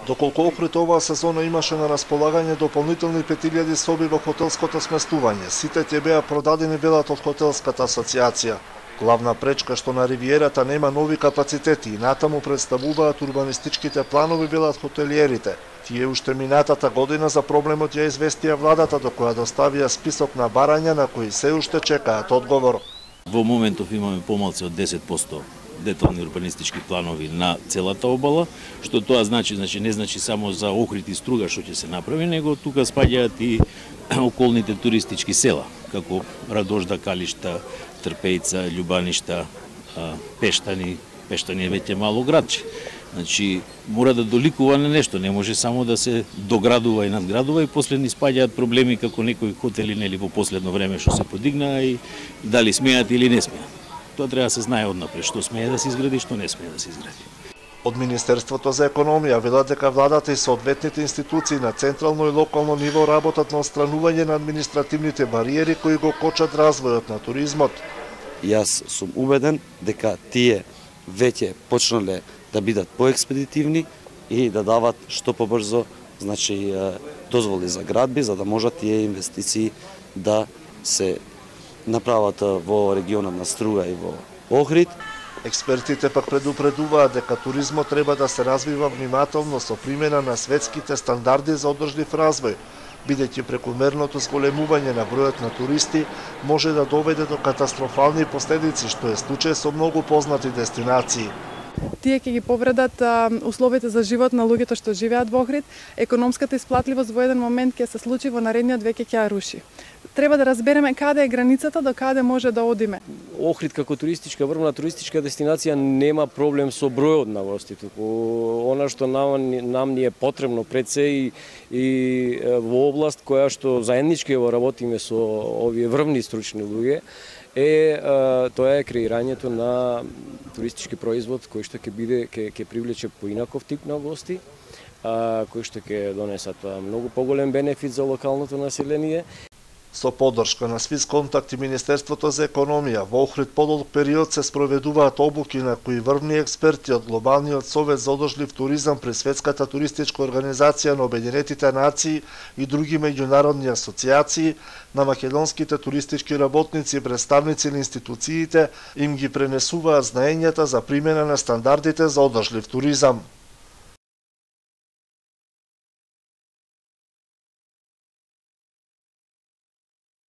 Доколку Охрид оваа сезона имаше на располагање дополнителни 5000 соби во хотелското сместување, сите ќе беа продадени велат од хотелската асоциација. Главна пречка што на ривиерата нема нови капацитети и натаму представуваат урбанистичките планови велат хотелиерите. Тие уште минатата година за проблемот ја известија владата, до која доставија список на барања на кои се уште чекаат одговор. Во моментов имаме помалку од 10% детални урбанистички планови на целата обала, што тоа значи не значи само за Охрид и Струга што ќе се направи, него тука спаѓаат и околните туристички села, како Радожда, Калишта, Трпејца, Љубаништа, Пештани. Пештани е веќе мало градче. Значи, мора да доликува на нешто, не може само да се доградува и надградува и после ни спаѓаат проблеми како некои хотели нели во последно време што се подигнаа и дали смеат или не смеат. Тоа треба да се знае однапред, што смее да се изгради, што не смее да се изгради. Од Министерството за економија велат дека владата и соодветните институции на централно и локално ниво работат на отстранување на административните бариери кои го кочат развојот на туризмот. Јас сум убеден дека тие веќе почнале да бидат поекспедитивни и да дават што побрзо, значи дозволи за градби, за да можат тие инвестиции да се направат во регионот на Струга и во Охрид. Експертите пак предупредуваат дека туризмот треба да се развива внимателно со примена на светските стандарди за одржлив развој, бидејќи прекумерното зголемување на бројот на туристи може да доведе до катастрофални последици, што е случај со многу познати дестинации. Тие ќе ги повредат условите за живот на луѓето што живеат во Охрид, економската исплатливост во еден момент ќе се случи, во наредниот век ќе ја руши. Треба да разбереме каде е границата, до каде може да одиме. Охрид како врвна туристичка дестинација нема проблем со бројот на гости, туку она што нам ни е потребно пред се и во област која што заеднички го работиме со овие врвни стручни луѓе, тоа е креирањето на туристички производ кој што ќе привлече поинаков тип на гости, кои што ќе донесат многу поголем бенефит за локалното население. Со поддршка на Свис Контакт и Министерството за економија, во Охрид подолг период се спроведуваат обуки на кои врвни експерти од Глобалниот совет за одржлив туризам при Светската туристичка организација на Обединетите нации и други меѓународни асоциации, на македонските туристички работници и представници на институциите им ги пренесуваат знаењата за примена на стандардите за одржлив туризам.